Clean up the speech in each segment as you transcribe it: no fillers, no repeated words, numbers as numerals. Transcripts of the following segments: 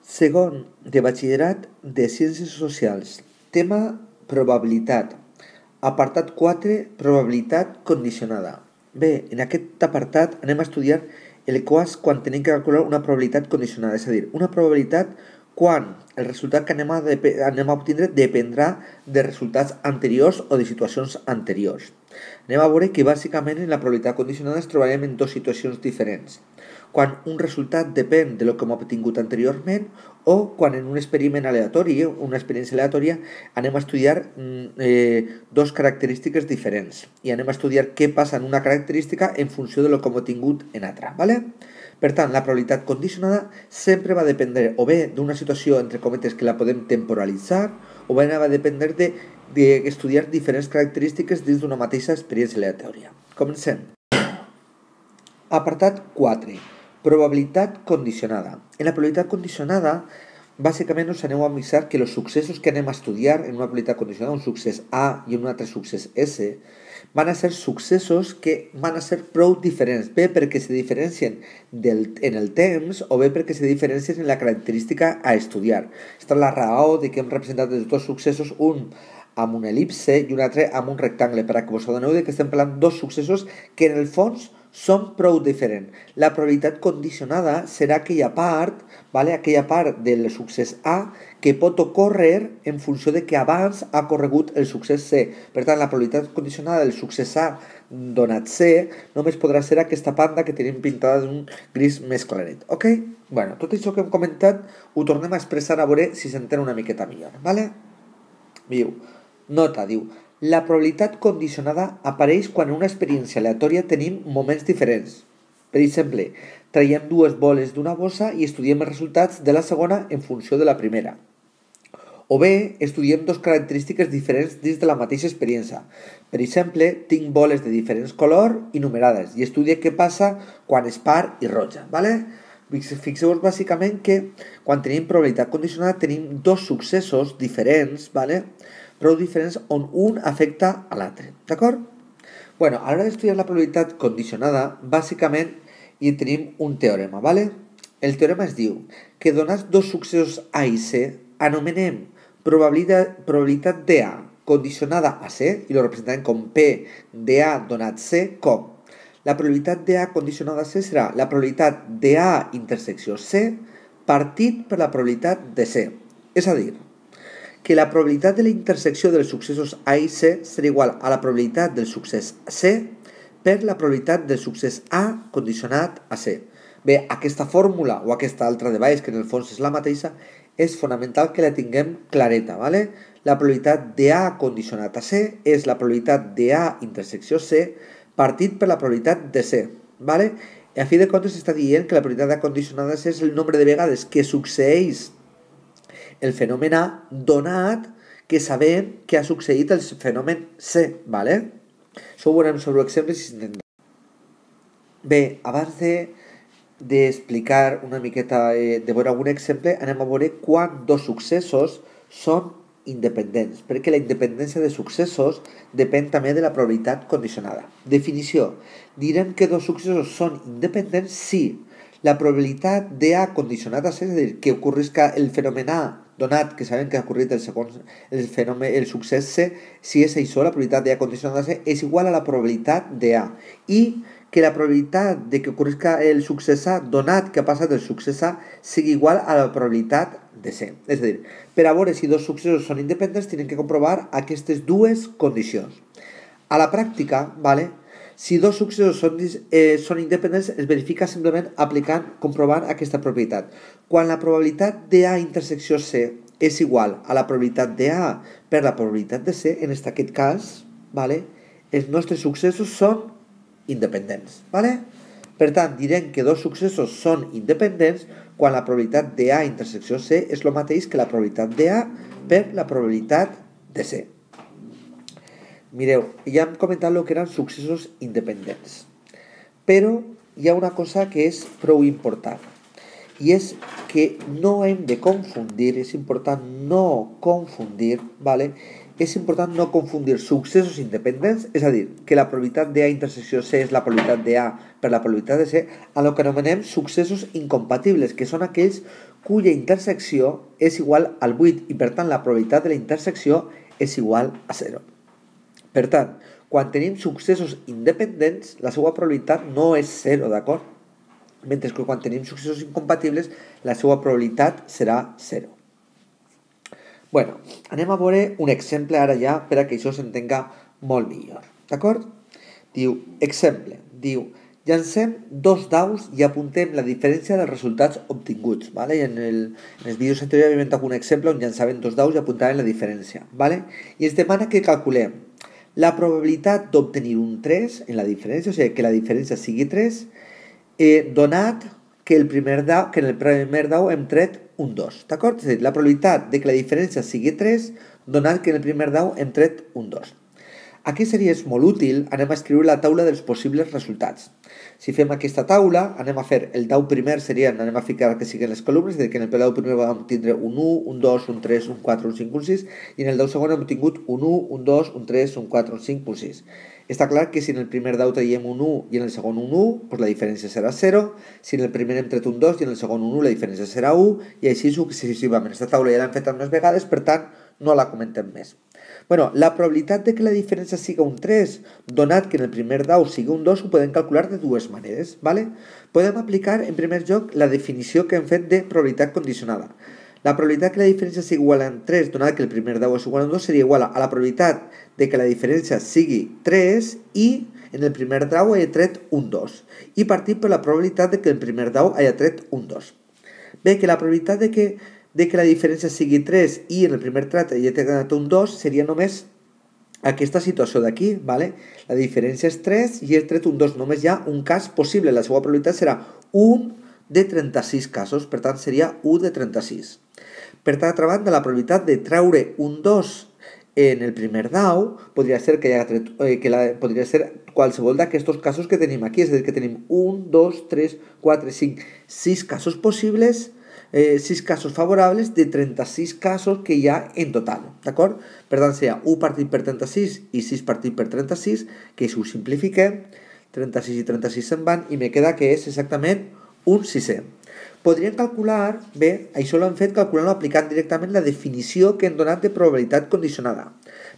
Segon, de batxillerat de Ciències Socials. Tema probabilitat. Apartat 4, probabilitat condicionada. Bé, en aquest apartat anem a estudiar el cas quan tenim que calcular una probabilitat condicionada, és a dir, una probabilitat quan el resultat que anem a obtindre dependrà de resultats anteriors o de situacions anteriors. Anem a veure que bàsicament en la probabilitat condicionada ens trobarem en dues situacions diferents. Quan un resultat depèn de lo que hem obtingut anteriorment o quan en un experiment aleatori, una experiència aleatòria, anem a estudiar dos característiques diferents i anem a estudiar què passa en una característica en funció de lo que hem obtingut en altra, ¿vale? Per tant, la probabilitat condicionada sempre va dependre o bé d'una situació, entre cometes, que la podem temporalitzar o bé va dependre d'estudiar diferents característiques dins d'una mateixa experiència aleatòria. Comencem. Apartat 4. Probabilitat condicionada. En la probabilitat condicionada, bàsicament us aneu a avisar que els successos que anem a estudiar en una probabilitat condicionada, un succés A i un altre succés S, van a ser successos que van a ser prou diferents, bé perquè se diferencien en el temps o bé perquè se diferencien en la característica a estudiar. Aquesta és la raó de que hem representat els dos successos, un amb una elipse i un altre amb un rectangle, perquè vos adoneu que estem parlant dos successos que en el fons són prou diferents. La probabilitat condicionada serà aquella part, ¿vale? Aquella part del succés A que pot ocórrer en funció de que abans ha corregut el succés C. Per tant, la probabilitat condicionada del succés A donat C només podrà ser aquesta banda que tenim pintada d'un gris més claret. Ok? Bueno, tot això que hem comentat ho tornem a expressar a veure si s'entén una miqueta millor. ¿Vale? Diu, nota, diu, la probabilitat condicionada apareix quan en una experiència aleatòria tenim moments diferents. Per exemple, traiem dues boles d'una bossa i estudiem els resultats de la segona en funció de la primera. O bé, estudiem dos característiques diferents dins de la mateixa experiència. Per exemple, tinc boles de diferents colors i numerades i estudie què passa quan és par i roja. ¿Vale? Fixeu-vos bàsicament que quan tenim probabilitat condicionada tenim dos successos diferents, ¿vale? Prou diferents on un afecta a l'altre, d'acord? Bueno, a l'hora d'estudiar la probabilitat condicionada, bàsicament hi tenim un teorema, ¿vale? El teorema es diu que donats dos successos A i C, anomenem probabilitat d'A condicionada a C, i lo representarem com P d'A donat C, com la probabilitat d'A condicionada a C serà la probabilitat d'A intersecció C partit per la probabilitat de C. És a dir, que la probabilitat de la intersecció dels successos A i C serà igual a la probabilitat del succés C per la probabilitat del succés A condicionat a C. Bé, aquesta fórmula o aquesta altra de baix, que en el fons és la mateixa, és fonamental que la tinguem clareta, ¿vale? La probabilitat d'A condicionat a C és la probabilitat d'A intersecció C partit per la probabilitat de C, ¿vale? I a fi de comptes està dient que la probabilitat d'A condicionada a C és el nombre de vegades que succeeix el fenomen A donat que sabem que ha succeït el fenomen C, ¿vale? Això ho veurem sobre exemples si s'entén. Bé, abans d'explicar una miqueta, de veure algun exemple, anem a veure quan dos successos són independents, perquè la independència de successos depèn també de la probabilitat condicionada. Definició. Direm que dos successos són independents si la probabilitat d'A condicionat a C, és a dir, que ocorrisca el fenomen A donat que sabem que ha ocorrit el succés C, si és això, la probabilitat d'A condicionada a C és igual a la probabilitat d'A i que la probabilitat de que ocorrisca el succés A donat que ha passat el succés A sigui igual a la probabilitat de C. És a dir, per a veure si dos successos són independents tenen que comprovar aquestes dues condicions. A la pràctica, ¿vale? Si dos successos són independents, es verifica simplement comprovant aquesta propietat. Quan la probabilitat d'A intersecció C és igual a la probabilitat d'A per la probabilitat de C, en aquest cas, ¿vale? Els nostres successos són independents, ¿vale? Per tant, direm que dos successos són independents quan la probabilitat d'A intersecció C és el mateix que la probabilitat d'A per la probabilitat de C. Mireu, ja hem comentat el que eren successos independents, però hi ha una cosa que és prou important i és que no hem de confundir, és important no confundir, ¿vale? És important no confundir successos independents, és a dir, que la probabilitat d'A intersecció C és la probabilitat d'A per la probabilitat de C, amb el que anomenem successos incompatibles, que són aquells cuya intersecció és igual al 8 i per tant la probabilitat de la intersecció és igual a 0. Per tant, quan tenim successos independents, la seva probabilitat no és 0, d'acord? Mentre que quan tenim successos incompatibles, la seva probabilitat serà 0. Bueno, anem a veure un exemple ara ja per a que això s'entenga molt millor, d'acord? Diu, exemple, diu, llancem 2 daus i apuntem la diferència dels resultats obtinguts, ¿vale? En els vídeos anteriors havia inventat un exemple on llançaven 2 daus i apuntaven la diferència, ¿vale? I ens demana que calculem la probabilitat d'obtenir un 3 en la diferència, o sigui, que la diferència sigui 3, donat que en el primer dau hem tret un 2, d'acord? És a dir, la probabilitat de que la diferència sigui 3, donat que en el primer dau hem tret un 2. Aquí seria molt útil, anem a escriure la taula dels possibles resultats. Si fem aquesta taula, anem a fer el dau primer, anem a ficar que siguin les columnes, és a dir, que en el dau primer vam tindre un 1, un 2, un 3, un 4, un 5, un 6, i en el dau segon hem obtingut un 1, un 2, un 3, un 4, un 5, un 6. Està clar que si en el primer dau traiem un 1 i en el segon un 1, doncs la diferència serà 0. Si en el primer hem tret un 2 i en el segon un 1, la diferència serà 1, i així successivament. Aquesta taula ja l'hem fet més vegades, per tant, no la comentem més. Bueno, la probabilitat de que la diferència siga un 3, donat que en el primer dau sigui un 2, ho podem calcular de dues maneres, ¿vale? Podem aplicar, en primer lloc, la definició que hem fet de probabilitat condicionada. La probabilitat que la diferència sigui igual a 3, donat que el primer dau és igual a 2, seria igual a la probabilitat de que la diferència sigui 3 i en el primer dau hagi tret un 2. I partim per la probabilitat de que el primer dau hagi tret un 2. Bé, que la probabilitat de que la diferència sigui 3 i en el primer tret hagi tret un 2 seria només aquesta situació d'aquí, ¿vale? La diferència és 3 i he tret un 2. Només hi ha un cas possible. La seva probabilitat serà 1 de 36 casos, per tant seria 1 de 36. Per altra banda, la probabilitat de treure un 2 en el primer dau podria ser podria ser qualsevol d'aquests casos que tenim aquí, és a dir, que tenim 1, 2, 3, 4, 5, 6 casos possibles, 6 casos favorables de 36 casos que hi ha en total, d'acord? Per tant, seria 1 partit per 36 i 6 partit per 36, que si ho simplifiquem, 36 i 36 se'n van i me queda que és exactament un sisè. Podríem calcular, bé, això l'hem fet calculant o aplicant directament la definició que hem donat de probabilitat condicionada.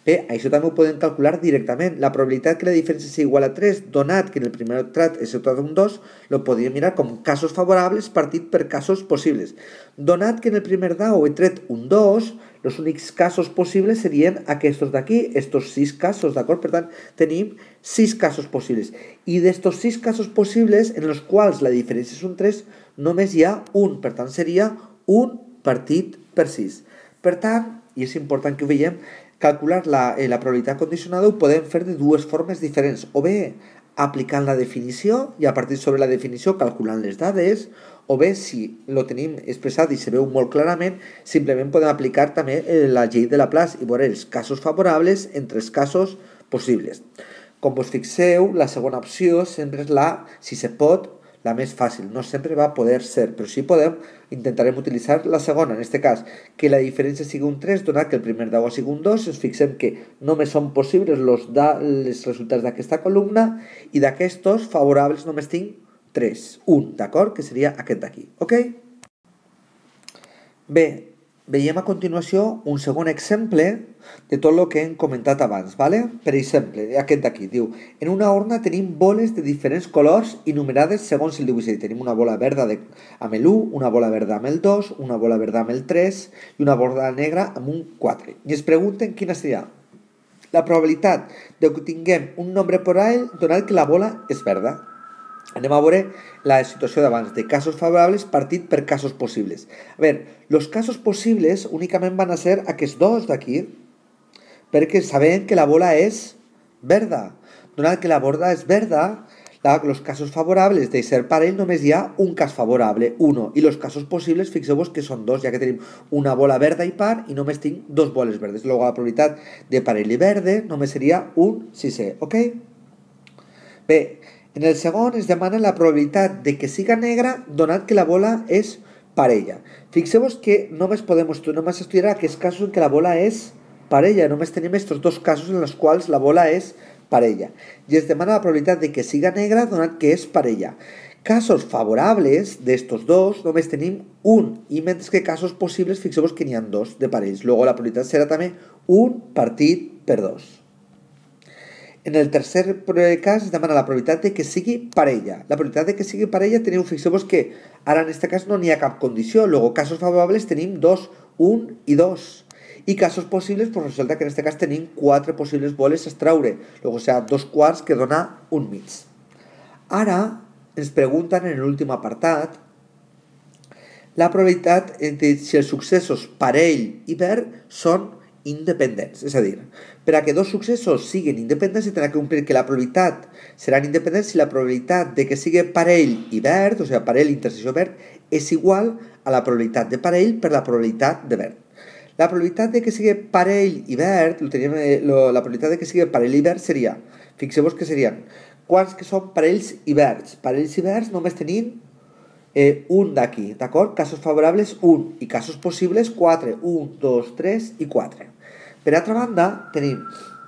Bé, això també ho podem calcular directament. La probabilitat que la diferència sigui igual a 3, donat que en el primer tret és igual a un 2, lo podríem mirar com casos favorables partit per casos possibles. Donat que en el primer dau he tret un 2, els únics casos possibles serien aquests d'aquí, estos 6 casos, d'acord? Per tant, tenim 6 casos possibles. I d'estos 6 casos possibles, en els quals la diferència és un 3, només hi ha un. Per tant, seria un partit per 6. Per tant, i és important que ho veiem, calcular la probabilitat condicionada ho podem fer de dues formes diferents. O bé aplicant la definició i a partir sobre la definició calculant les dades, o bé, si lo tenim expressat i se veu molt clarament, simplement podem aplicar també la llei de Laplace i veure els casos favorables entre els casos possibles. Com vos fixeu, la segona opció sempre és si se pot, la més fàcil. No sempre va poder ser, però si podem, intentarem utilitzar la segona. En aquest cas, que la diferència sigui un 3, donat que el primer dau sigui un 2, ens fixem que només són possibles els resultats d'aquesta columna i d'aquestos favorables només tinc 3, 1, d'acord? Que seria aquest d'aquí, ok? Bé, veiem a continuació un segon exemple de tot el que hem comentat abans, ¿vale? Per exemple, aquest d'aquí, diu, en una urna tenim boles de diferents colors i numerades segons el dibuix. Tenim una bola verda amb el 1, una bola verda amb el 2, una bola verda amb el 3 i una bola negra amb un 4. I es pregunten quina seria la probabilitat de que tinguem un nombre parell donat que la bola és verda. Anem a veure la situació d'abans, de casos favorables partit per casos possibles. A veure, els casos possibles únicament van a ser aquests dos d'aquí, perquè sabem que la bola és verda. Donat que la bola és verda, els casos favorables de ser parell només hi ha un cas favorable, 1, i els casos possibles, fixeu-vos que són 2, ja que tenim una bola verda i par i només tinc 2 boles verdes. Llavors la probabilitat de parell i verde només seria un sisè, ok? Bé, en el segon es demana la probabilitat de que siga negra donat que la bola és parella. Fixeu-vos que només estudiar aquests casos en què la bola és parella. Només tenim aquests dos casos en els quals la bola és parella. I es demana la probabilitat de que siga negra donat que és parella. Casos favorables d'estos dos només tenim un, i mentre que casos possibles fixeu-vos que n'hi ha dos de parells. Luego la probabilitat serà també 1 partit per 2. En el tercer cas es demana la probabilitat de que sigui parella. La probabilitat de que sigui parella fixeu-vos que ara en aquest cas no n'hi ha cap condició. Luego casos favorables tenim 2, 1 i 2. I casos possibles, pues resulta que en aquest cas tenim 4 possibles boles a extraure. Luego, o sea, 2 quarts que dona un mig. Ara ens pregunten en l'últim apartat la probabilitat de si els successos parell i verd són independents. És a dir, per a que dos successos siguin independents tindrà que complir que la probabilitat seran independents si la probabilitat de que sigui parell i verd, o sigui, parell intersecció verd, és igual a la probabilitat de parell per la probabilitat de verd. La probabilitat de que sigui parell i verd, la probabilitat de que sigui parell i verd seria, fixeu-vos que serien quants que són parells i verds. Parells i verds només tenim un d'aquí, d'acord? Casos favorables 1 i casos possibles 4. 1, 2, 3 i 4. Per altra banda, tenim,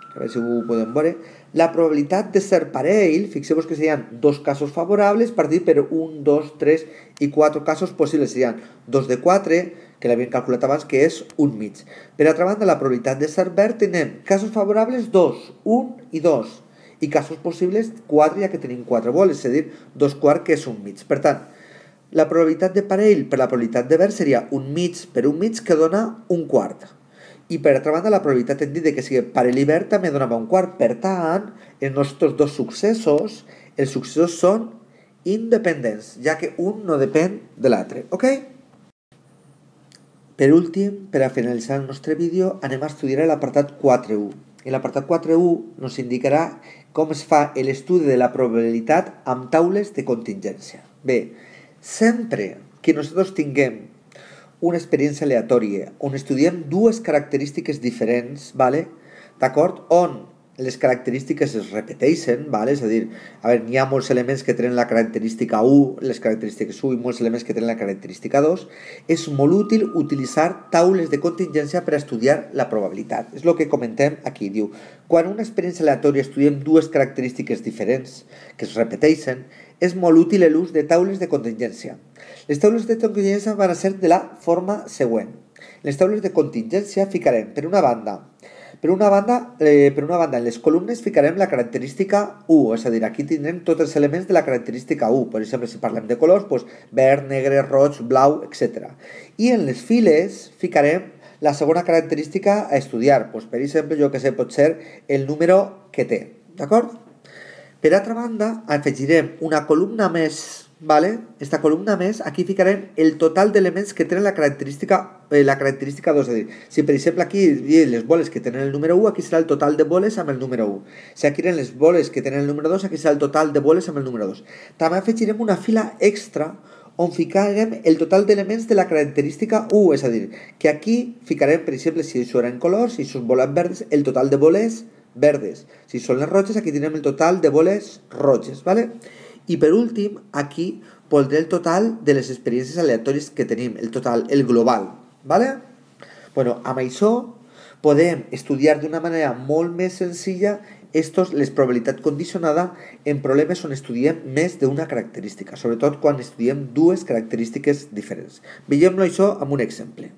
a veure si ho podem veure, la probabilitat de ser parell, fixeu-vos que serien dos casos favorables partit per 1, 2, 3 i 4 casos possibles. Serien 2 de 4, que l'havíem calculat abans, que és un mig. Per altra banda, la probabilitat de ser verd tenim casos favorables 2, 1 i 2. I casos possibles 4, ja que tenim 4 boles, és a dir, 2 quarts que és un mig. Per tant, la probabilitat de parell per la probabilitat de verd seria un mig per un mig que dona un quart. I per altra banda, la probabilitat hem dit que sigui parell i verd també donava un quart. Per tant, en nostres dos successos, els successos són independents, ja que un no depèn de l'altre. Ok? Per últim, per a finalitzar el nostre vídeo, anem a estudiar l'apartat 4.1. En l'apartat 4.1 ens indicarà com es fa l'estudi de la probabilitat amb taules de contingència. Bé, sempre que nosaltres tinguem una experiència aleatòria on estudiem dues característiques diferents, ¿vale? D'acord? On les característiques es repeteixen, ¿vale? És a dir, n'hi ha molts elements que tenen la característica 1, les característiques 1 i molts elements que tenen la característica 2, és molt útil utilitzar taules de contingència per estudiar la probabilitat. És el que comentem aquí. Diu, quan en una experiència aleatòria estudiem dues característiques diferents que es repeteixen, és molt útil l'ús de taules de contingència. Les taules de contingència van a ser de la forma següent. Les taules de contingència ficarem, per una banda, en les columnes ficarem la característica 1, és a dir, aquí tindrem tots els elements de la característica 1. Per exemple, si parlem de colors, doncs, verd, negre, roig, blau, etc. I en les files ficarem la segona característica a estudiar. Doncs, per exemple, jo que sé, pot ser el número que té. D'acord? Per altra banda, afegirem una columna més, ¿vale? Esta columna més, aquí ficarem el total d'elements que tenen la característica 2, és a dir, si per exemple aquí les boles que tenen el número 1, aquí serà el total de boles amb el número 1. Si aquí eren les boles que tenen el número 2, aquí serà el total de boles amb el número 2. També afegirem una fila extra on ficarem el total d'elements de la característica 1, és a dir, que aquí ficarem, per exemple, si això eren colors, si són boles verdes, el total de boles verdes. Si són les roges, aquí tindrem el total de boles roges, ¿vale? I per últim, aquí pondré el total de les experiències aleatòries que tenim, el total, el global, ¿vale? Bueno, amb això podem estudiar d'una manera molt més senzilla les probabilitat condicionada en problemes on estudiem més d'una característica, sobretot quan estudiem dues característiques diferents. Veiem-lo això amb un exemple.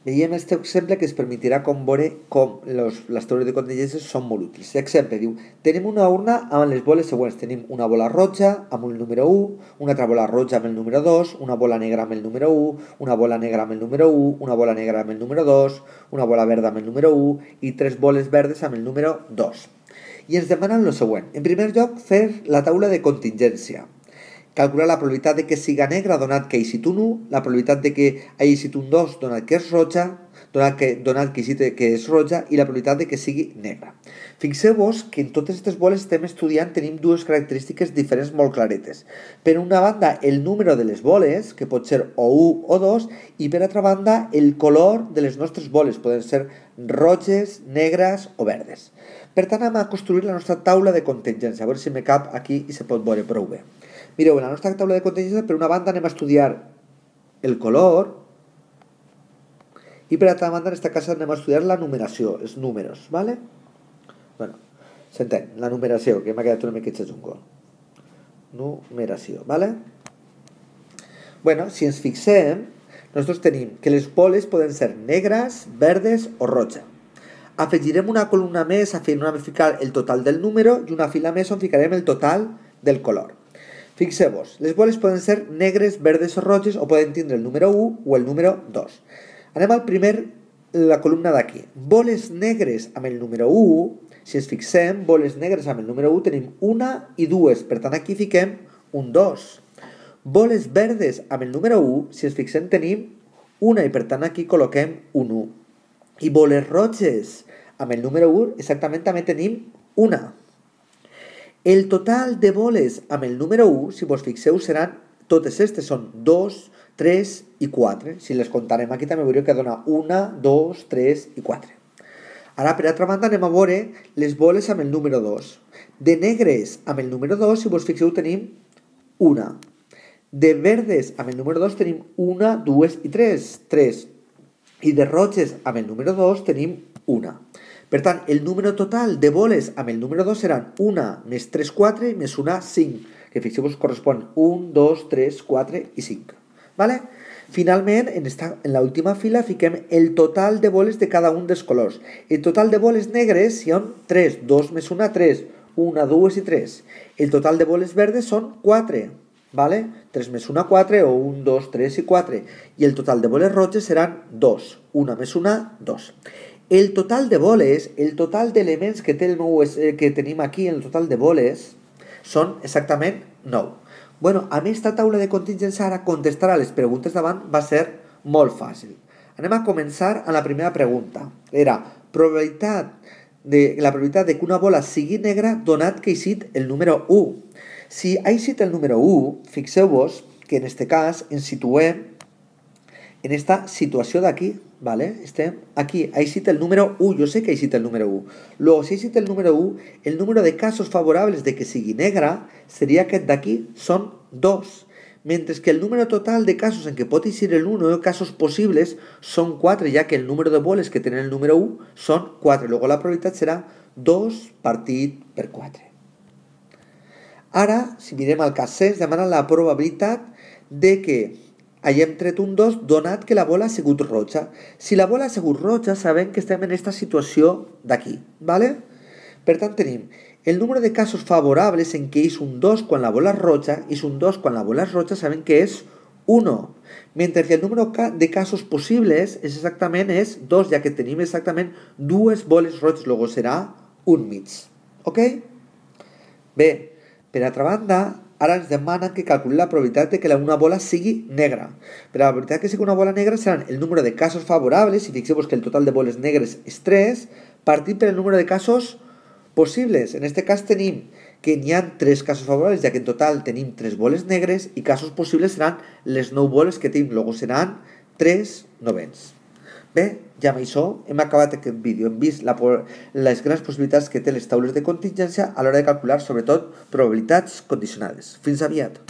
Veiem aquest exemple que ens permetirà veure com les teories de contingències són molt útils. Exemple, diu, tenim una urna amb les boles següents. Tenim una bola roja amb el número 1, una altra bola roja amb el número 2, una bola negra amb el número 1, una bola negra amb el número 1, una bola negra amb el número 2, una bola verda amb el número 1 i 3 boles verdes amb el número 2. I ens demanen el següent. En primer lloc, fer la taula de contingència. Calcular la probabilitat de que siga negra donat que ha eixit un 1, la probabilitat de que ha eixit un 2 donat que és roja, donat que ha eixit que és roja i la probabilitat de que sigui negra. Fixeu-vos que en totes aquestes boles estem estudiant tenim dues característiques diferents molt claretes. Per una banda, el número de les boles, que pot ser o 1 o 2, i per altra banda, el color de les nostres boles, poden ser roges, negres o verdes. Per tant, anem a construir la nostra taula de contingència, a veure si me cap aquí i se pot veure prou bé. Mireu, en la nostra taula de contingència, per una banda anem a estudiar el color i per altra banda, en aquesta casa anem a estudiar la numeració, els números, ¿vale? Bueno, s'entén, la numeració, que m'ha quedat una miqueta jungo. numeració, ¿vale? Bueno, si ens fixem, nosaltres tenim que les boles poden ser negres, verdes o roja. Afegirem una columna més on hem de ficar el total del número i una fila més on ficarem el total del color. Fixeu-vos, les boles poden ser negres, verdes o roges o poden tindre el número 1 o el número 2. Anem al la columna d'aquí. Boles negres amb el número 1, si ens fixem, boles negres amb el número 1 tenim una i dues, per tant aquí fiquem un 2. Boles verdes amb el número 1, si ens fixem tenim una i per tant aquí col·loquem un 1. I boles roges amb el número 1 exactament també tenim una. El total de boles amb el número 1, si vos fixeu, seran, totes aquestes són 2, 3 i 4. Si les comptarem aquí també veureu que dona 1, 2, 3 i 4. Ara, per altra banda, anem a veure les boles amb el número 2. De negres amb el número 2, si vos fixeu, tenim una. De verdes amb el número 2 tenim 1, 2 i 3. I de roges amb el número 2 tenim una. Per tant, el número total de boles amb el número 2 seran 1 més 3, 4 més 1, 5. Que fixeu-vos correspon 1, 2, 3, 4 i 5. ¿Vale? Finalment, en l'última fila fiquem el total de boles de cada un dels colors. El total de boles negres són 3, 2 més 1, 3, 1, 2 i 3. El total de boles verdes són 4, ¿vale? 3 més 1, 4, o 1, 2, 3 i 4. I el total de boles roges seran 2, 1 més 1, 2. El total de boles, el total d'elements que tenim aquí, el total de boles, són exactament 9. Bueno, a mi esta taula de contingència ara contestar a les preguntes davant va ser molt fàcil. Anem a començar a la primera pregunta. Era la probabilitat de que una bola sigui negra donat que ha eixit el número 1. Si ha eixit el número 1, fixeu-vos que en aquest cas ens situem en esta situació d'aquí, ¿vale? Estem aquí, ha eixit el número 1, jo sé que ha eixit el número 1. Luego, si ha eixit el número 1, el número de casos favorables de que sigui negra seria aquest d'aquí, són 2. Mentre que el número total de casos en què pot eixir el 1 o casos possibles són 4, ja que el número de boles que tenen el número 1 són 4. Luego la probabilitat serà 2 partit per 4. Ara, si mirem el cas C, ens demana la probabilitat de que hàgim tret un 2 donat que la bola ha sigut roja. Si la bola ha sigut roja, sabem que estem en aquesta situació d'aquí, ¿vale? Per tant, tenim el número de casos favorables en què és un 2 quan la bola és roja, és un 2 quan la bola és roja, sabem que és 1. Mentre que el número de casos possibles exactament és 2, ja que tenim exactament dues boles roges, luego serà un mig. Ok? Bé, per altra banda, ara ens demanen que calculem la probabilitat de que una bola sigui negra. Per la probabilitat que sigui una bola negra seran el número de casos favorables, i fixeu-vos que el total de boles negres és 3, partit per el número de casos possibles. En aquest cas tenim que n'hi ha 3 casos favorables, ja que en total tenim 3 boles negres, i casos possibles seran les 9 boles que tenim, luego seran 3 novens. Bé, ja amb això hem acabat aquest vídeo. Hem vist les grans possibilitats que té les taules de contingència a l'hora de calcular, sobretot, probabilitats condicionades. Fins aviat!